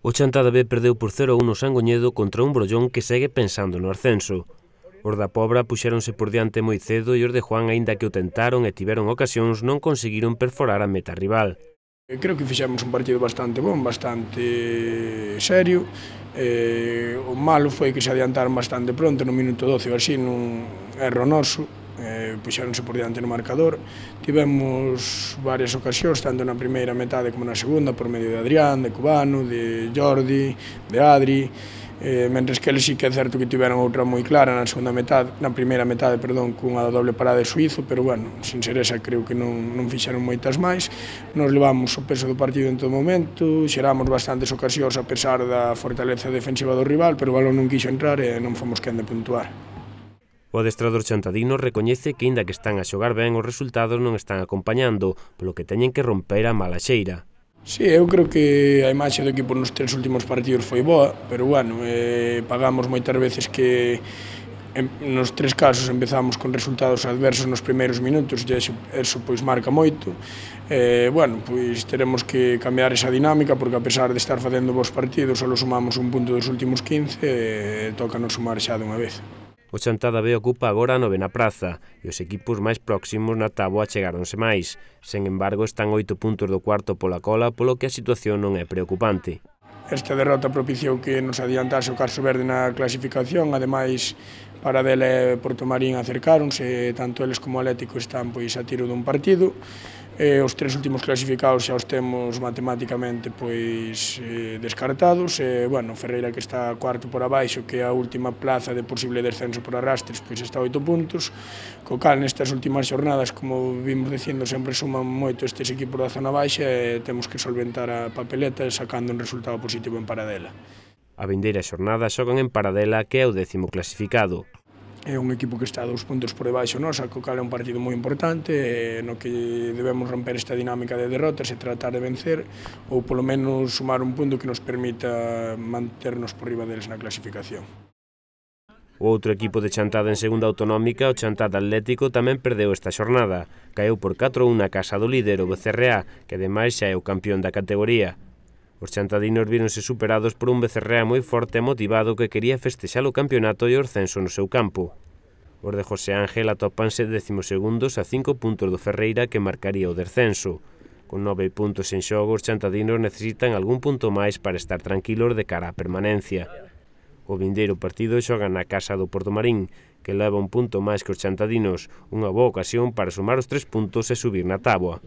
O Chantada B perdeu por 0-1 no Sangoñedo contra un Brollón que segue pensando no ascenso. Os da Pobra puxéronse por diante moi cedo e os de Juan, aínda que o tentaron e tiveron ocasións, non conseguiron perforar a meta rival. Creo que fixemos un partido bastante bon, bastante serio. O malo foi que se adiantaron bastante pronto, no minuto 12 ou así, nun erro noso. Puxéronse por diante no marcador. Tivemos varias ocasións, tanto na primeira metade como na segunda, por medio de Adrián, de Cubano, de Jordi, de Adri. Mentres que eles sí que é certo que tiveron outra moi clara na primeira metade, cunha doble parada de Suízo, pero bueno, sin ser esa creo que non fixeron moitas máis. Nos levamos o peso do partido en todo momento, xeramos bastantes ocasións a pesar da fortaleza defensiva do rival, pero o balón non quixo entrar e non fomos quen de puntuar. O adestrador chantadino recoñece que, aínda que están a xogar ben, os resultados non están acompañando, polo que teñen que romper a mala xeira. Sí, eu creo que a imaxe do equipo nos 3 últimos partidos foi boa, pero bueno, pagamos moitas veces que nos 3 casos empezamos con resultados adversos nos primeiros minutos e eso pois marca moito. Bueno, pois teremos que cambiar esa dinámica porque a pesar de estar facendo bons partidos só sumamos un punto dos últimos 15 e toca non sumar xa dunha vez. O Chantada B ocupa agora a 9ª praza e os equipos máis próximos na táboa chegáronse máis. Sen embargo, están 8 puntos do cuarto pola cola, polo que a situación non é preocupante. Esta derrota propiciou que nos adiantase o Carso Verde na clasificación, ademais Paradela e Portomarín acercáronse, tanto eles como o Atlético están pois a tiro dun partido. Os 3 últimos clasificados xa os temos matemáticamente pois descartados. Bueno, Ferreira, que está cuarto por abaixo, que é a última plaza de posible descenso por arrastres, pois está a 8 puntos. Co cal, nestas últimas xornadas, como vimos dicindo, sempre suman moito estes equipos da zona baixa e temos que solventar a papeleta sacando un resultado positivo en Paradela. A vindeira xornada xogan en Paradela, que é o 10º clasificado. É un equipo que está 2 puntos por debaixo nosa, co cal é un partido moi importante, no que debemos romper esta dinámica de derrotas e tratar de vencer, ou polo menos sumar un punto que nos permita manternos por riba deles na clasificación. O outro equipo de Chantada en segunda autonómica, o Chantada Atlético, tamén perdeu esta xornada. Caeu por 4-1 na casa do líder, o Becerreá, que ademais xa é o campeón da categoría. Os chantadinos víronse superados por un Becerreá moi forte e motivado que quería festexar o campeonato e o ascenso no seu campo. Os de José Ángel atópanse 12º a 5 puntos do Ferreira, que marcaría o descenso. Con 9 puntos en xogo, os chantadinos necesitan algún punto máis para estar tranquilos de cara á permanencia. O vindeiro partido xoga na casa do Portomarín, que leva un punto máis que os chantadinos, unha boa ocasión para sumar os 3 puntos e subir na táboa.